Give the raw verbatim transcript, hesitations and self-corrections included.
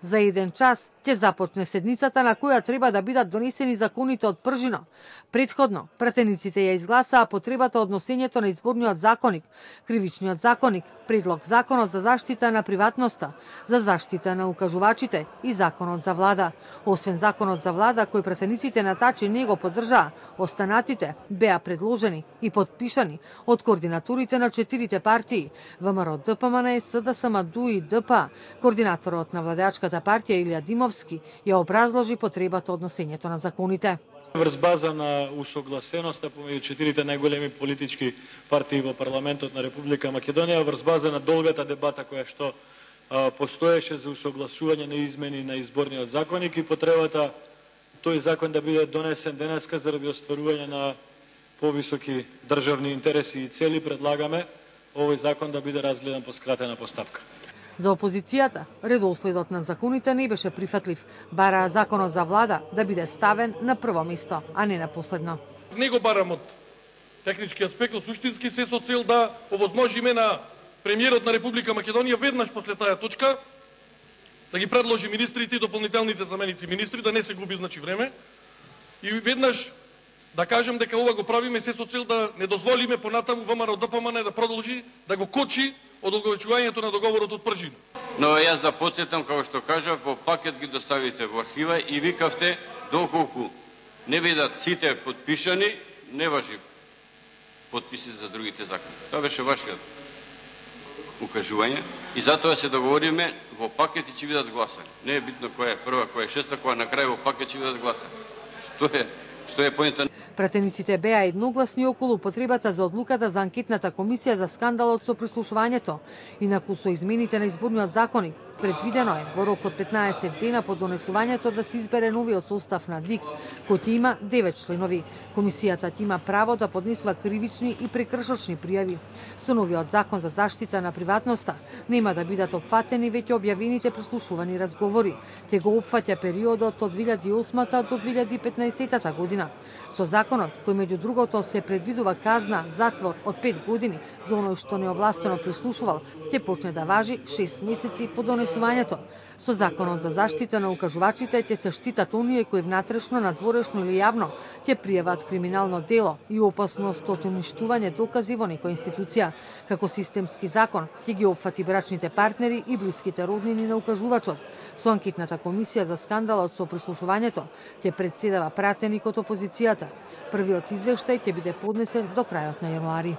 За еден час ќе започне седницата на која треба да бидат донесени законите од пржино. Претходно, пратениците ја изгласаа потребата од носењето на изборниот законик, кривичниот законик, предлог законот за заштита на приватноста, за заштита на укажувачите и законот за влада. Освен законот за влада, кој пратениците на Тачи не го поддржаа, останатите беа предложени и подпишани од координаторите на четирите партии ВМРО, ДПМН, СДСМ, ДУ и ДП. Координаторот на владеачката партија Илија Димовски ја образложи потребата од носењето на законите. Врз база на усогласеноста помеѓу четирите најголеми политички партии во парламентот на Република Македонија, врз база на долгата дебата која што а, постоеше за усогласување на измени на изборниот законик и потребата тој закон да биде донесен денеска заради остварување на повисоки државни интереси и цели, предлагаме овој закон да биде разгледан по скратена постапка. За опозицијата, редоследот на законите не беше прифатлив. Бараа законот за влада да биде ставен на прво место, а не на последно. Не го барам од технички аспект, од суштински, се со цел да овозможиме на премиерот на Република Македонија веднаш после таа точка да ги предложи министрите и дополнителните заменици министри, да не се губи значи време, и веднаш да кажем дека ова го правиме се со цел да не дозволиме понатаму ВМРО ДПМН да продолжи да го кочи од одговарувањето на договорот од пржина. Но јас да потсетам, како што кажав, во пакет ги доставите во архива и викавте доколку не бидат сите подпишани, не важи подписи за другите закони. Тоа беше вашиот укажување и затоа се договориме во пакет и ќе бидат гласани. Не е битно која е прва, која е шеста, која на крај во пакет ќе бидат гласани. Што е што е поинтот? Пратениците беа едногласни околу потребата за одлуката за анкетната комисија за скандалот со прислушувањето. Инаку со измените на изборниот законик, предвидено е во рок од петнаесет дена по донесувањето да се избере новиот состав на ДИК, кој ќе има девет членови. Комисијата ќе има право да поднесува кривични и прекршочни пријави. Со новиот закон за заштита на приватноста нема да бидат опфатени веќе објавените прислушувани разговори. Ќе го опфаќа периодот од две илјади и осма до две илјади и петнаесета година. Со законот, кој меѓу другото се предвидува казна затвор од пет години за оној што неовластено прислушувал, ќе почне да важи шест месеци по донесувањето. Со законот за заштита на укажувачите ќе се штитат оние кои внатрешно, надворешно или јавно ќе пријават криминално дело и опасност од уништување докази во некоја институција. Како системски закон ќе ги опфати брачните партнери и блиските роднини на укажувачот. Со анкетната комисија за скандалот со прислушувањето ќе претседава пратеник од опозицијата. Првиот извештај ќе биде поднесен до крајот на јануари.